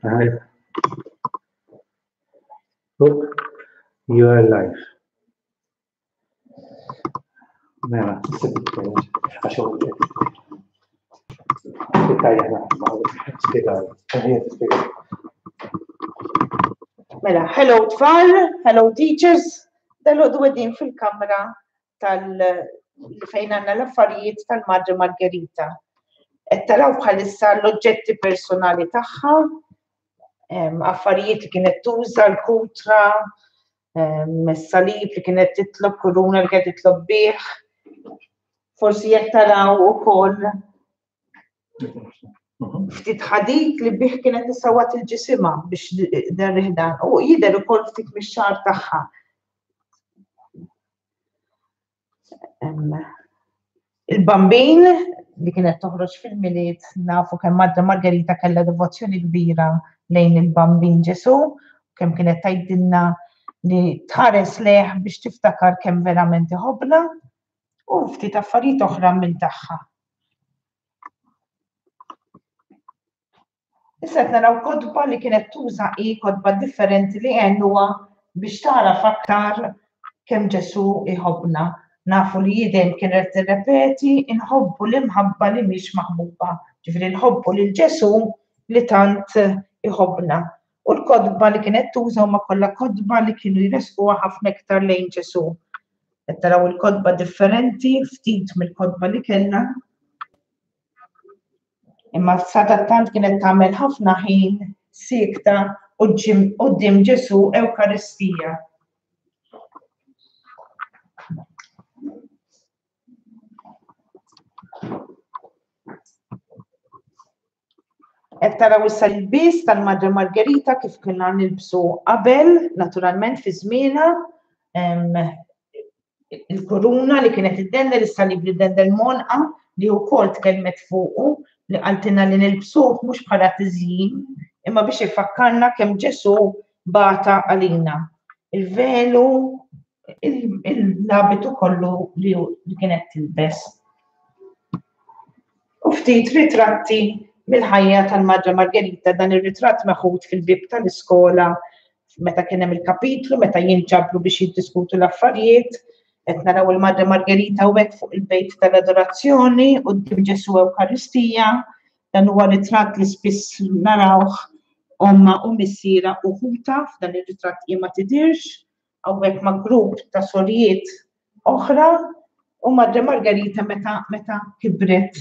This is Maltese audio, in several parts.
I hope you are alive. Mela, tista' titkellem għax Mela, hello tfal, hello teachers, dal-għodu għedin fil-kamra tal fejn għandna l-affarijiet tal-Madre Margherita. Qed taraw bħalissa l-oġġetti personali tagħha, affarijiet li kienet tuża l-kutra, salib li kienet titlob, kuruna li kienet titlob bih. Forsi jekk taraw ukoll ftit ħadid li bih kienet isawat il-ġisimha biex derrih dan. U jidher ukoll ftit mix-xagħar tagħha. Il-bambin li kienet toħroġ fil-miliet nafu kemm Madre Margherita kellha devozzjoni kbira lejn il-bambin Ġesu, kemm kienet tgħidilna li tħares leh biex tiftakar kemm verament iħobbna u ftit affarijiet oħra minn tagħha. Issa qed naraw kotba li kienet tuża hi kotba differenti li għenuha biex tagħraf aktar kemm Ġesù jħobbna. Nafu li hi dejjem kienet tirrepeti inħobbu l-imħabba li mhix maħbuba. Ġifieri nħobbu lil Ġesù li tant iħobbna. U l-kotba li kienet tuża huma kollha kotba li kienu jressquha ħafna iktar lejn Ġesù. Qed taraw il-kotba differenti, ftit mill-kotba li kellha. Imma sadattant kienet tagħmel ħafna ħin siekta quddiem Ġesù Ewkaristija. Qed taraw issa l-ilbies tal-Madre Margherita kif kienna nilbsu qabel, naturalment fi żmienha, il-kuruna li kienet iddendel, is-salib li ddendel monqa li wkoll tkellmet fuqu li qaltilna li nilbsuh mhux bħala tiżjin imma biex ifakkarna kemm Ġesù bata għalina. Il-velu, il-labitu kollu li kienet tilbes. U ftit ritratti mill-ħajja tal-Madre Margherita dan ir-ritratt meħud fil-bieb tal-iskola meta kien hemm il-kapitlu, meta jinġabru biex jiddiskutu l-affarijiet, qed naraw il-Madre Margherita hawnhekk fuq il-bejt tal-adorazzjoni quddiem Ġesù Ewkaristija, dan huwa ritratt li spiss narawh omma u missiera u ħuta, f'dan ir-ritratt hi ma tidhirx, hawnhekk ma' grupp ta' sorijiet oħra u Madre Margherita meta meta kibret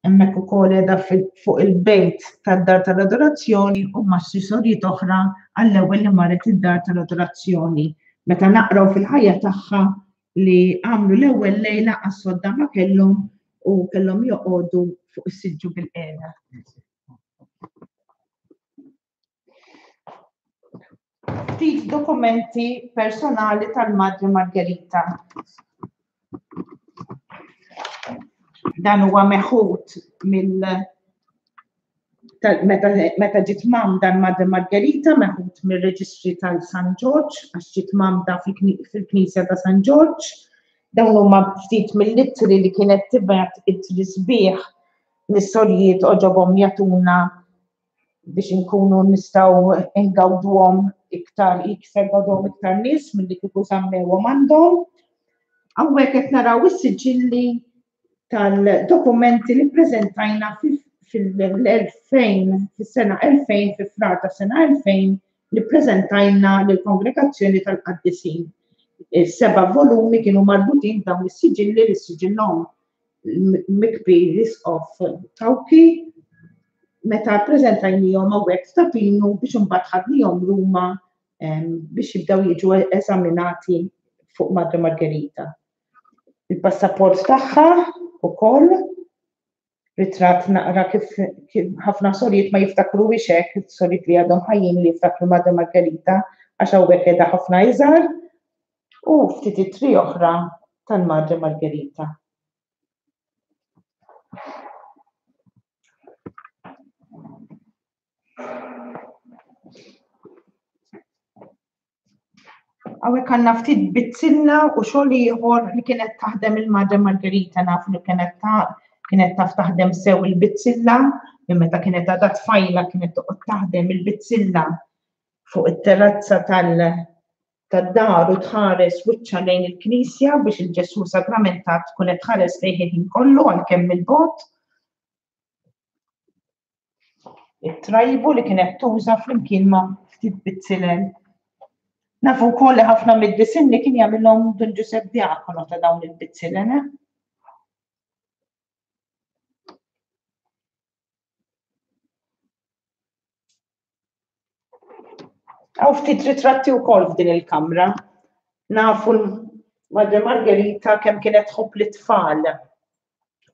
hemmhekk ukoll qiegħda fuq il-bejt tad-dar tal-adorazzjoni u ma' xi sorijiet oħra għall-ewwel li marret id-dar tal-adorazzjoni. Meta naqraw fil-ħajja tagħha li għamlu l-ewwel lejla għas-sodda ma kellhom u kellhom joqogħdu fuq is-siġġu bil-qiegħda. Ftit dokumenti personali tal-Madre Margherita. Dan huwa meħud mill meta, meta ġiet mamda l-Madre Margherita meħud mir-reġistri tal-San Ġorġ għax ġiet mamda fil-Knisja ta' San Ġorġ. Dawn huma ftit mill-ittri li kienet tibgħat ittri sbieħ lis-sorijiet oġobhom jagħtuna biex inkunu nistgħu ngawduhom iktar iktar gawduhom iktar nies milli kieku żammewhom għandhom. Hawnhekk qed naraw is-siġilli tal-dokumenti li ppreżentajna fil-2000, fis-sena 2000, fi frar ta' sena 2000, li ppreżentajna lill-Kongregazzjoni tal-Qaddisin. Is-seba' volumi kienu marbutin dawn is-siġilli li siġillhom mikbi l-Isqof Cauchi meta ppreżentajnihom hawnhekk f'Ta' Pinu biex imbagħad ħadnihom Ruma biex jibdew jiġu eżaminati fuq Madre Margherita. Il-passaport tagħha ukoll ritratt naqra kif ħafna sorijiet ma jiftakruhiex hekk, sorijiet li għadhom ħajjin li jiftakru Madre Margherita għax hawnhekk qiegħda ħafna iżgħar u ftit ittri oħra tal-Madre Margherita. Hawnhekk għandna ftit bizzilla u xogħol ieħor li kienet taħdem il-Madre Margherita naf li kienet ta' Kienet taf taħdem sew il-bizzilla, minn meta kienet għadha tfajla kienet toqgħod taħdem il-bizzilla fuq it-terrazza tal- tad-dar u tħares wiċċha lejn il-knisja biex il-Ġesù Sagramentat tkun qed tħares lejh il-ħin kollu għalkemm mill-bogħod. It-trajbu li kienet tuża flimkien ma' ftit bizzilel. Nafu wkoll li ħafna mid-disinni kien jagħmilhom Dun Ġusepp Diakono ta' dawn il-bizzilel. Eh? Hawn ftit ritratti wkoll f'din il-kamra. Nafu Madre Margherita kemm kienet tħobb lit-tfal.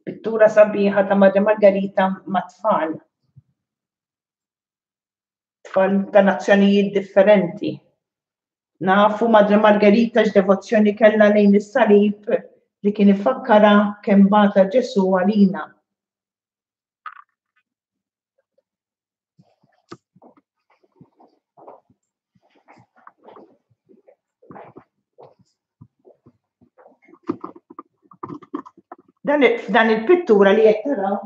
Pittura sabiħa ta' Madre Margherita ma' tfal. Tfal ta' nazzjonijiet differenti. Nafu Madre Margherita x'devozzjoni kellha lejn is-salib li kien ifakkara kemm bata Ġesù għalina. Dan f'dan il-pittura li qed taraw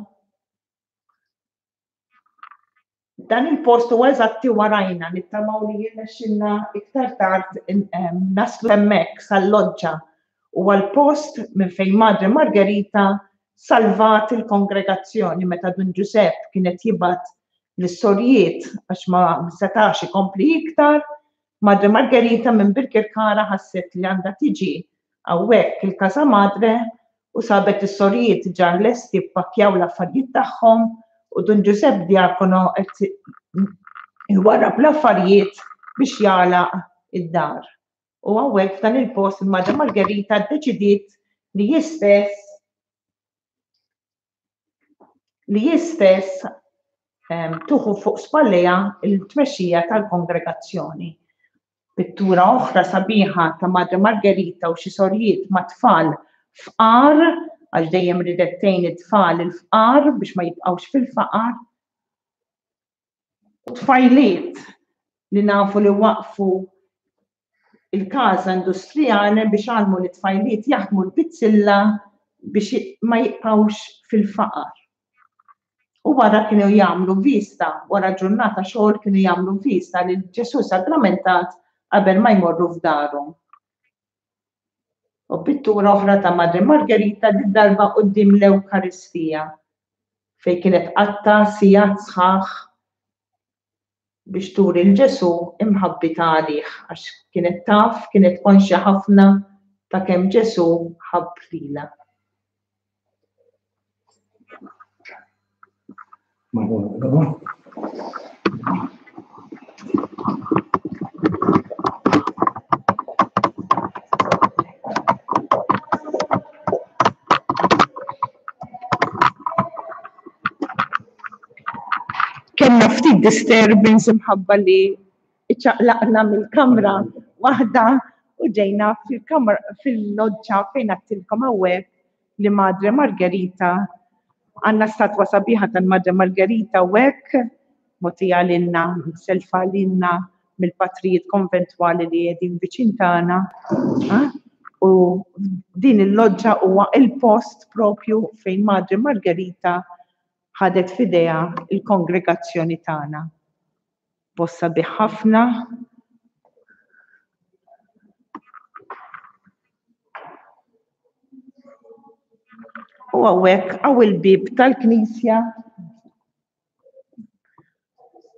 dan il-post huwa eżatti warajna nittamaw li jirnexxilna iktar tard naslu hemmhekk sal-loġġa Huwa l-post minn fejn Madre Margherita salvat il-kongregazzjoni meta Dun Ġużepp kien qed jibgħat lis-sorijiet għax ma setax ikompli iktar. Madre Margherita minn Birkirkara ħasset li għandha tiġi hawnhekk il-Casa Madre u sabet is-sorijiet ġa lesti ppakkjaw l-affarijiet tagħhom u Dun Ġużepp Diacono qed iwarrab l-affarijiet biex jagħlaq id-dar. U hawnhekk f'dan il-post il-Madre Margherita ddeċidiet li hi stess li hi stess ehm, tuħu fuq spallejha il-tmexxija tal-kongregazzjoni. Pittura oħra sabiħa ta' Madre Margherita u xi sorijiet ma' tfal fqar għax dejjem ridet tgħin it-tfal il-fqar biex ma jibqgħux fil-faqar. U tfajliet li nafu li waqfu il-Casa Industriale biex għallmu li tfajliet jaħdmu l-bizzilla biex ma jibqgħux fil-faqar. U wara kienu jagħmlu vista, wara ġurnata xogħol kienu jagħmlu vista lil Ġesù Sagramentat qabel ma jmorru f'darhom. U pittura oħra ta' Madre Margherita did-darba quddiem l-Ewkaristija fejn kienet qatta' sigħat sħaħ biex turi 'l Ġesù imħabbitha għalih għax kienet taf, kienet konxja ħafna ta' kemm Ġesù ħabb lilha. Kellna ftit disturbance imħabba li iċċaqlaqna mill-kamra waħda u ġejna fil-kamra fil-loġġa fejn għattilkom hawnhekk li Madre Margherita għandna statwa sabiħa tal-Madre Margherita u hekk mogħtija lilna selfa lilna mill-patrijiet konventwali li qegħdin viċin tagħna. U din il-loġġa huwa il-post propju fejn Madre Margherita ħadet f'idejha il-kongregazzjoni tagħna. Post sabiħ ħafna. U hawnhekk hawn il-bieb tal-knisja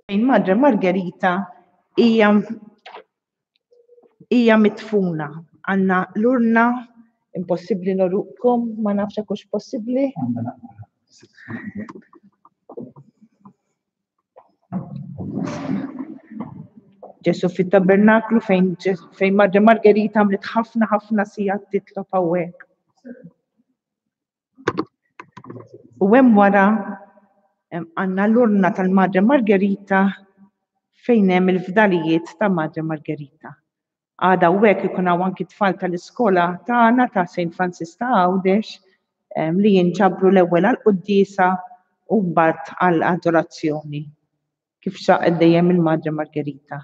fejn Madre Margherita hija hija mitfuna. Għandna l-urna impossibbli norukom, ma nafx hekk hux possibbli. Ġesu fit-tabernaklu fejn fejn Madre Margherita għamlet ħafna ħafna sigħat titlob hawnhekk. U hemm wara għandna l-urna tal-Madre Margherita fejn hemm il-fdalijiet ta' Madre Margherita. Għada hawnhekk ikun hawn anki tfal tal-iskola tagħna ta' St. Francis ta' Għawdex li jinġabru l-ewwel għall-quddiesa u mbagħad għall-adorazzjoni kif xaqet dejjem il-Madre Margherita.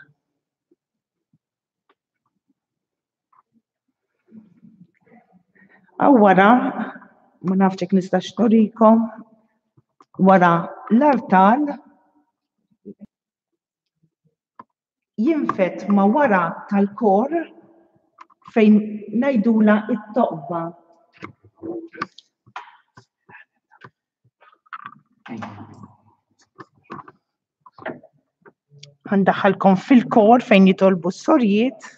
Hawn wara. Ma nafx jekk nistax nurikom wara l-artal jinfed ma' wara tal-kor fejn ngħidula it-toqba. Għandaħalkom fil-kor fejn jitolbu s-sorjiet.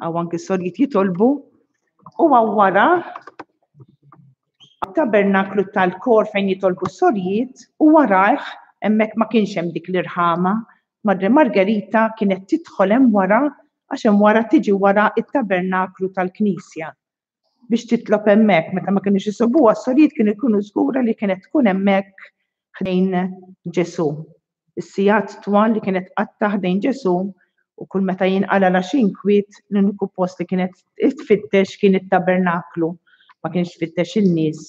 Għaw anki s-sorjiet jitolbu. U għaw wara tabernaklu tal-kor fejn jitolbu s-sorjiet u warajh hemmhekk ma kienx hemm dik l-irħama. Madre Margherita kienet tidħol hemm wara għax hemm wara tiġi wara it-tabernaklu tal-knisja. biex titlob hemmhekk meta ma kinux isibuha s-sorijiet kienu jkunu żgura li kienet tkun hemmhekk ħdejn Ġesù. Is-sigħat twal li kienet qatta ħdejn Ġesù u kull meta jinqala xi inkwiet l-uniku post li kienet tfittex kien it-tabernaklu, ma kienx tfittex in-nies.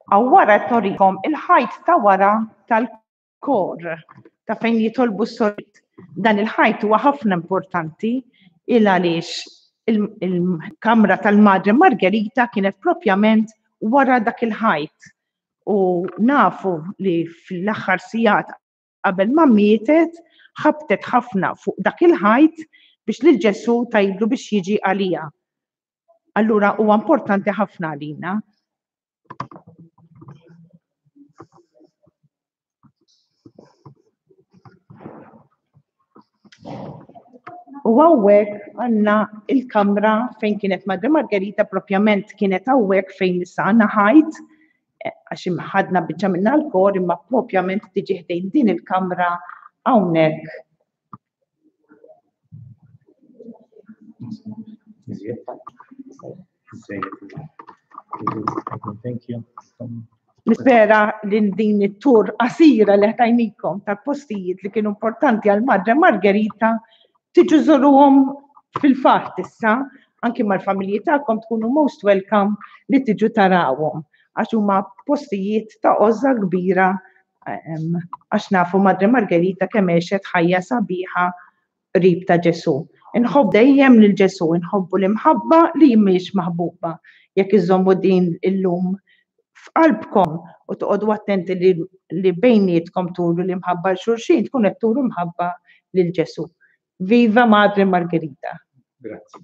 Hawn wara qed norikom il-ħajt ta' wara tal-kor ta' fejn jitolbu s-sorit. Dan il-ħajt huwa ħafna importanti il għaliex il-kamra tal-Madre Margherita kienet propjament wara dak il-ħajt. U nafu li fl-aħħar sigħat qabel ma mietet ħabtet ħafna fuq dak il-ħajt biex lil Ġesù tgħidlu biex jiġi għaliha. Allura huwa importanti ħafna għalina. U hawnhekk għandna il-kamra fejn kienet Madre Margherita propjament kienet hawnhekk fejn issa għandna ħajt eh, għax ħadna biċċa minna l-kor imma propjament tiġi ħdejn din il-kamra hawnhekk Thank you. Nispera li din it-tur qasira li ħtajnikom tal-postijiet li kienu importanti għal Madre Margherita tiġu żuruhom fil-fatt issa, anki mal-familji tagħkom tkunu most welcome li tiġu tarawhom għax huma postijiet ta' għożża kbira għax nafu Madre Margherita kemm għexet ħajja sabiħa qrib ta' Ġesù. Inħobb dejjem lil Ġesù, inħobbu l-imħabba li mhix maħbuba. Jekk iżommu din illum f'qalbkom u toqgħodu attenti li, li bejnietkom turu l-imħabba l xulxin, tkun qed turu mħabba lil Ġesù. Viva Madre Margherita. Grazzi.